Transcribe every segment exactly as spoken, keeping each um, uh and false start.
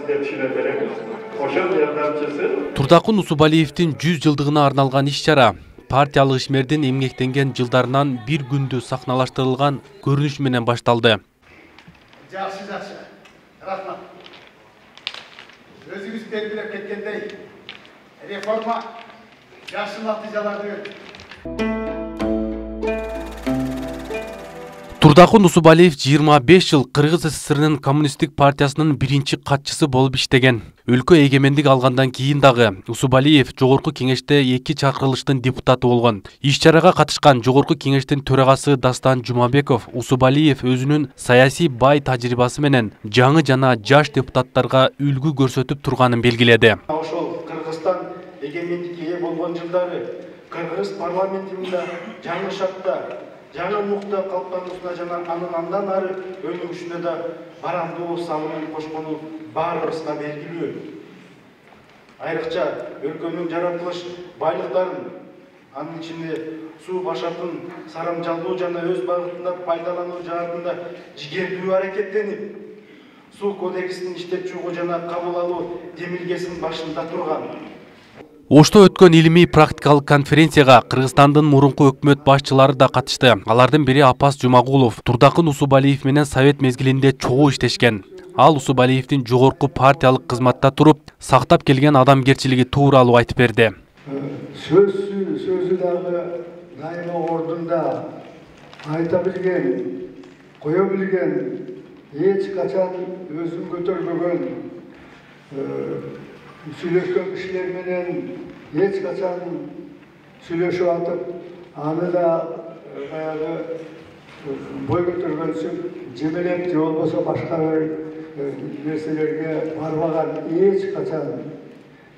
сизге түшүнө беребиз. Ошол жардамчысы Турдакун Усубалиевдин жүз жылдыгына арналган иш-чара партиялык ишмердин эмгектенген жылдарынан бир күндү сахналаштырылган көрүнүш менен башталды. Жакшы, жакшы. Рахмат. Өзүңүз белгилеп кеткендей, реформа жакшы натыйжаларды берди. Турдакун Усубалиев жыйырма беш жыл Кыргыз СССРнын коммунисттик партиясынын биринчи катчысы болуп иштеген. Өлкө эгемендик алгандан кийин дагы Усубалиев Жогорку кеңеште эки чакырылыштын депутаты болгон. Иш-чарага катышкан Жогорку кеңештин төрагасы Дастан Жумабеков Усубалиев өзүнүн саясий бай тажрыйбасы менен жаңы жана жаш депутаттарга үлгү көрсөтүп турганын белгиледи. Ошол Кыргызстан эгемендикке ээ болгон жылдары Кыргыз парламентинде жаңы шарттар, жаңы мукта калыптануусуна жана анын андан ары өнүгүшүнө да барамдуу салымын кошкону баарыбызга белгилүү. Айрыкча өлкөнүн жаратылыш байлыктарын, анын ичинде суу башатын сарамжалдуу жана өз багытында пайдалануу жаатында жигердүү аракеттенип, суу кодексин иштеп чыгуу жана кабыл алуу демилгесинин башында турган. Ошто өткөн илимий практикалык конференцияга Кыргызстандын мурунку өкмөт башчылары да катышты. Алардын бири Апас Жумагулов Турдакун Усубалиев менен совет мезгилинде чогуу иштешкен. Ал Усубалиевдин жогорку партиялык кызматта туруп, сактап келген адамгерчилиги тууралуу айтып берди. Сөзсү сөзү дагы дайыма ордунда айта билген, кое билген, эч качан өзүн көтөрбөгөн, сүйлөшкөн кишилер менен эч качан сүйлөшүп атып, аны да баягы бой көтөргөнсүн жемелеп же болбосо башка бир нерселерге барбаган эч качан.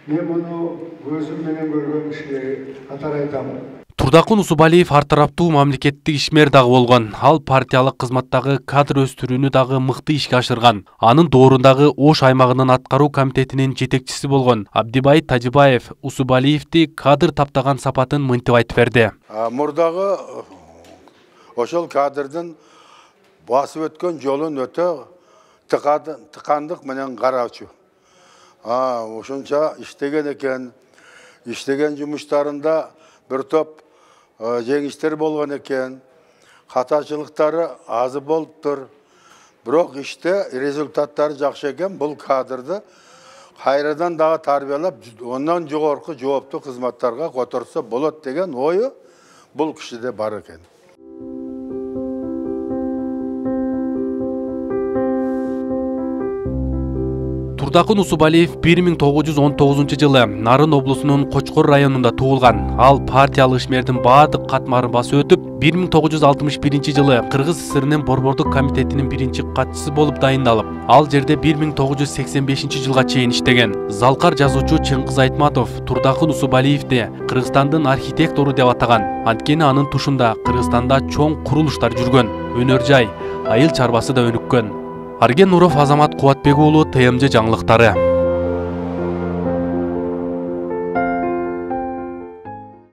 Мен муну көзүм менен көргөн кишилер катары айтам. Турдакун Усубалиев ар тараптуу мамлекеттик ишмер дагы болгон. Ал партиялык кызматтагы кадр өстүрүүнү дагы мыкты ишке ашырган. Анын доорундагы Ош аймагынын аткаруу комитетинин жетекчиси болгон Абдибай Тажибаев Усубалиевди кадр таптаган сапатын мынтип айтып берди. Мурдагы ошол кадрдын басып өткөн жолун өтө тыкандык менен караучу. Ошонча иштеген экен. Иштеген жумуштарында бир топ жеңиштер болгон экен, катачылыктары азы болуптур. Бирок иште результаттары жакшы экен. Бул кадрды кайрадан дагы тарбиялап, ондан жогорку жооптуу кызматтарга которсо болот деген ою бул кишиде бар экен. Турдакун Усубалиев бир миң тогуз жүз он тогузунчу жылы Нарын облусунун Кочкор районунда туулган. Ал партиялык ишмердин баардык катмарын басып өтүп, бир миң тогуз жүз алтымыш биринчи жылы Кыргыз СССРнын Борбордук комитетинин биринчи катчысы болуп дайындалып, ал жерде бир миң тогуз жүз сексен бешинчи жылга чейин иштеген. Залкар жазуучу Чыңгыз Айтматов Турдакун Усубалиевди Кыргызстандын архитектору деп атаган. Анткени анын тушунда Кыргызстанда чоң курулуштар жүргөн, өнөр жай, айыл чарбасы да өнүккөн. Арген Нуров, Азамат Кубатбек уулу, Т М Ж жаңылыктары.